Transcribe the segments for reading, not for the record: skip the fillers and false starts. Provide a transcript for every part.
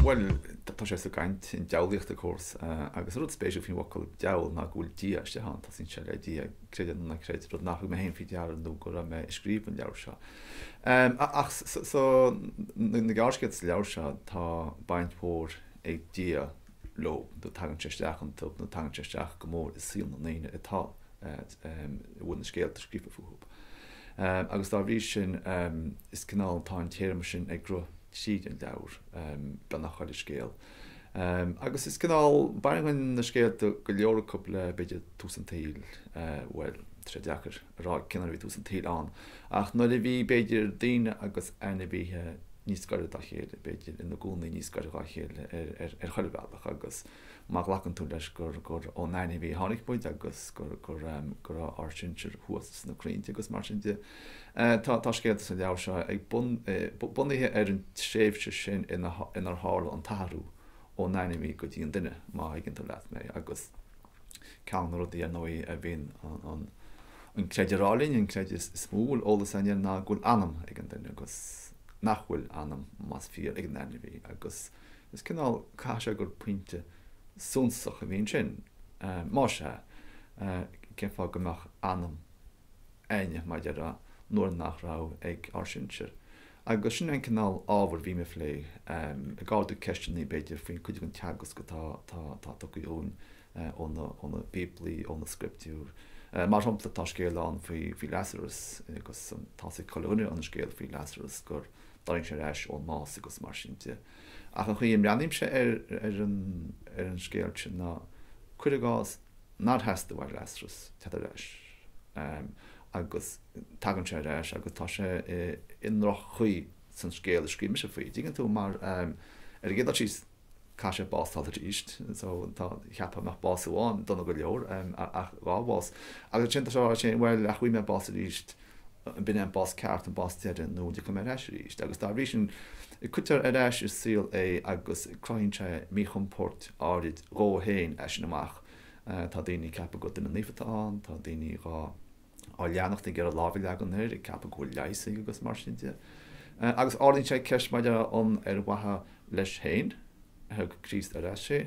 Bhuel, tá sé sa gcaint, an diabhlaíocht of course, agus an rud spéisiúil faoin bhfocal diabhal ná go bhfuil Dia istigh ann, tosaíonn sé le Dia, creid é nó ná creid, rud nach thug mé féin faoi deara nó go raibh mé ag scríobh an leabhair seo. Ach so, na gearrscéalta sa leabhar seo, tá baint mhór ag Dia leo, nó tagann sé isteach iontu, nó tagann sé isteach go mór i saol na ndaoine atá, a bhfuil na scéalta scríofa fúthu. Agus dá bhrí sin, is cineál, tá an téarma sin ag rith tríd an leabhar, beagnach chuile scéal. Agus is cineál, baineann na scéalta go leor acu le, b'fhéidir, tús an tsaoil, bhuel, tá sé deacair a rá cén uair a bhí tús an tsaoil ann, ach nuair a bhí, b'fhéidir, daoine agus ainmhithe níos gaire dá chéile, b'fhéidir, ina gcónaí níos gaire dá chéile ar ar chuile bhealach agus má ghlacann tú leis gur gur ón ainmhí a tháinig muid agus gur gur go raibh ár sinsir thuas sna crainnte agus mar sin de. Tá tá scéalta sa leabhar seo ag bun bunaithe ar an tréimhse sin ina inar tharla an t-athrú ón ainmhí go dtí an duine, má thuigeann tú leat mé, agus ceann de na rudaí ar ndóigh a bhíonn an an creideamh a rá linn, an creideamh is mó a bhfuil eolas againn air ná go bhfuil anam ag an duine agus nach bhfuil anam, más fíor, ag an ainmhí agus Is cineál, caithfidh sé gur pointe suntasach a bhí ansin. Más ea, cén fáth go mbeadh anam againne, mar a déarfá, nuair nach raibh ag ár sinsir? Agus sin an cineál ábhair a bhím ag plé, ag ardú ceisteanna, b'fhéidir, faoin cuid den teagasc atá tugtha dhúinn ó na Bíoblaí, ó na scrioptúir. Mar shampla, tá scéal ann faoi Lazarus agus tá 'fhios ag chuile dhuine an scéal faoi Lazarus gur tharraing sé ar ais ón mbás agus mar sin de. Ach an chaoi a mbreathnaímse ar ar an ar an scéal sin ná, cuir i gcás nár theastaigh uaidh Lasarus teacht ar ais agus tagann sé ar ais agus tá sé i i ndroch-chaoi san scéal a scríobh mise faoi. Dtuigeann tú? Mar ar an gcéad dul síos, caithfidh sé bás a fháil arís so tá, cheapfá mbeadh bás amháin dona go leor ach dhá bhás. Agus ansin tá sé á rá sin, bhuel ach gheobhaidh mé bás arís, b'in é an bás ceart, an bás deiridh nó an dtiocfaidh mé ar ais arís. Agus dá bhrí sin cuirtear ar ais i saol é agus cruthaíonn sé míchompord áirid dhó féin as sin amach. Tá daoine ag ceapadh gur duine naofa atá ann, tá daoine dhá. á leanacht ag iarraidh lámh a leagan air, ag ceapadh go bhfuil leigheas aige agus mar sin de. Agus ardaíonn sé ceist maidir le an ar mhaithe leis féin a thug Críost ar ais é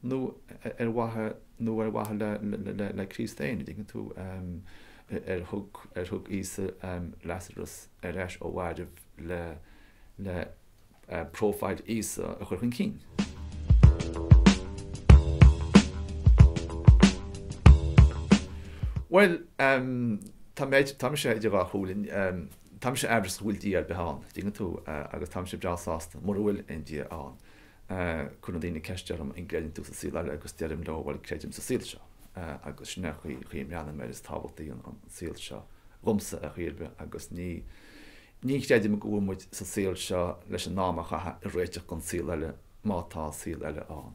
nó ar mhaithe nó ar mhaithe le le le Críost féin, an dtuigeann tú, ar thug ar thug Íosa Lasarus ar ais ó mhairbh le le próifíl Íosa a chur chun cinn. Bhuel, tá mé, tá mise idir dhá chomhairle. Tá mise aimhreasach an bhfuil Dia ar bith ann, dtuigeann tú, agus tá mise breá sásta mura bhfuil aon Dia ann. Cuireann daoine ceist orm an gcreideann tú sa saol eile agus deirim leo, bhuel, creidim sa saol seo agus sin é an chaoi, chaoi a mbreathnaím air, is tábhachtaí an saol seo dhomsa ar chaoi ar bith agus ní, Ní chreidim go bhfuil muid sa saol seo leis an am a chaitheamh ag réiteach don saol eile, má tá saol eile ann.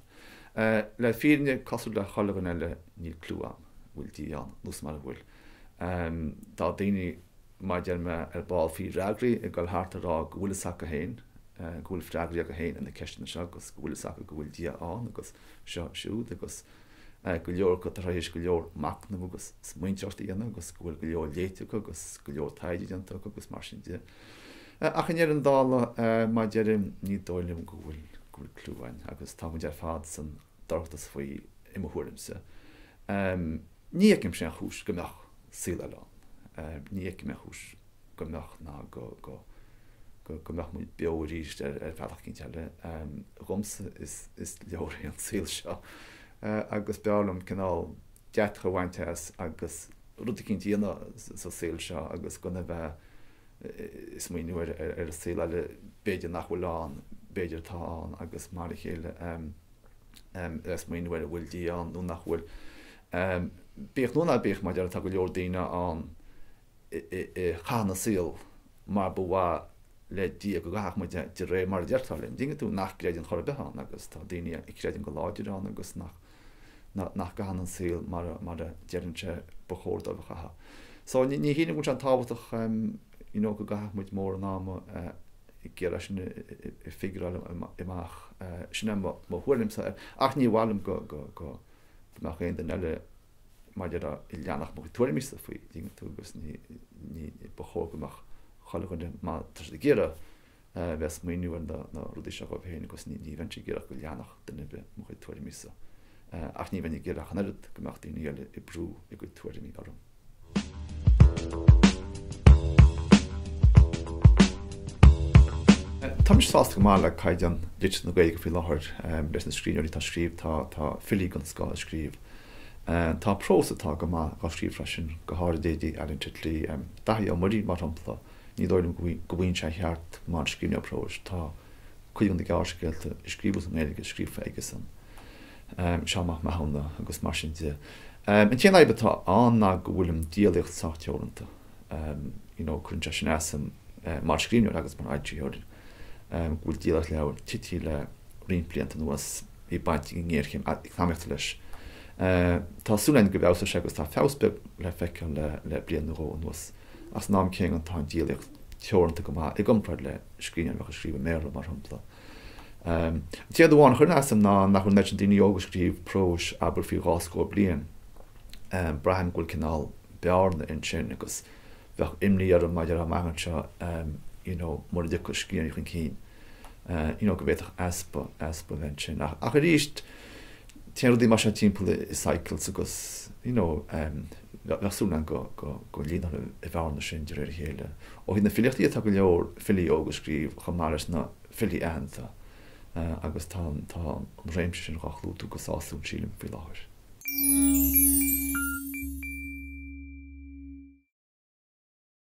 Le fírinne, cosúil le chuile dhuine eile, níl cliú a'm an bhfuil Dia ann nó mara bhfuil. Tá daoine, mar a deir mé ar ball, faoi fhreagraí ag dul thart ag rá go bhfuil fhios acu féin, go bhfuil freagraí acu féin ar na ceisteanna seo agus go bhfuil fhios acu go bhfuil Dia ann agus seo siúd agus go leor acu tar éis go leor machnaimh agus smaointeoireacht a dhéanamh agus go bhfuil go leor léite acu agus go leor taighde déanta acu agus mar sin de. Ach i ndeireadh na dála, mar a deirim, ní dóigh liom go bhfuil go bhfuil cliú againn agus tá muid ar fad san dorchadas faoi i mo thuairimse. Ní fheicimse aon chúis go mbeadh saol eile ann. Ní fheicim aon chúis go mbeadh ná go go go mbeadh muid beo arís ar ar bhealach eicínt eile. Dhomsa is is leor é an saol seo agus b'fhearr liom cineál deatach a bhaint as agus rud eicínt a dhéanamh sa saol seo agus gan a bheith ag smaoineamh ar ar an saol eile b'fhéidir nach bhfuil ann, b'fhéidir atá ann agus mar a chéile ag smaoineamh ar an bhfuil Dia ann nó nach bhfuil. Bíodh nó ná bíodh, mar a déarfá, tá go leor daoine ann a chaitheann a saol mar ba mhaith le Dia go gcaithfeadh muid é, de réir mar a deirtear linn. Dtuigeann tú nach gcreideann chor ar bith ann agus tá daoine a chreideann go láidir ann agus nach nach gcaitheann an saol mar a mar a deireann sé ba chóir dóibh a chaitheamh. So ní ní shílim go bhfuil sé an-tábhachtach you know go gcaithfeadh muid mórán ama ag iarraidh sin a figureáil amach. Sin é mo mo thuairimse air. Ach ní mhaith liom go go go mbeadh aon duine eile maidir le leanacht mo chuid tuairimíse faoi, dtuigeann tú, agus ní, ní, ba chóir go mbeadh chuile dhuine, má tá siad ag iarraidh. bheith ag smaoineamh ar na rudaí seo dhóibh féin agus ní bheinnse ag iarraidh go leanfadh duine ar bith mo chuid tuairimísa. Ach ní bheinn ag iarraidh ach an oiread go mbeadh daoine eile ag brú a gcuid tuairimí orm. Tá mise sásta go maith le caighdeán litríocht na Gaeilge faoi láthair, leis na scríbhneoirí atá ag scríobh, tá tá filí den scoth ag scríobh. Tá prós atá go maith á scríobh freisin, go háirid leithéidí Alan Titley, Daithí Ó Muirí mar shampla, ní dóigh liom go bhfaigheann sé a cheart mar scríbhneoir próis. Tá cuid de na gearrscéalta a scríobhadh sa nGaeilge scríofa aigesan, Seán Mac Mathúna agus mar sin de. An t-aon fhadhb atá ann ná go bhfuil an díolaíocht sách teoranta. You know, cuireann sé sin as dom mar scríbhneoir agus mar fhoilsitheoir go bhfuil díolaíocht leabhar tite le roinnt blianta anuas. Bhí baint ag an ngéarchéim eacnamaíochta leis. Tá súil againn go bhfeabhsóidh sé agus tá feabhas beag le feiceáil le bliain nó dhó anuas. Ach san am céanna tá an díolaíocht teoranta go maith i gcomparáid le scríbhneoir a bheadh ag scríobh i mBéarla, mar shampla. An t-aon rud amháin a chuireann as dom ná nach bhfuil an oiread sin daoine óga ag scríobh próis, abair, faoi dhá scór bliain. Braithim go bhfuil cineál bearna ansin agus bheadh imní orm maidir amach anseo you know mura dtiocfadh scríbhneoirí chun cinn you know go bhféadfadh easpa, easpa a bheith ansin. Ach, ach arís, téann rudaí mar seo timpeall i cycles agus you know bheadh súil agam go, go, go líonfar an bhearna sin de réir a chéile. Ó thaobh na filíochta de tá go leor filí óga ag scríobh chomh maith leis na filí aitheanta agus tá an, tá an réimse sin dhá chlúdú go sásúil sílim faoi láthair.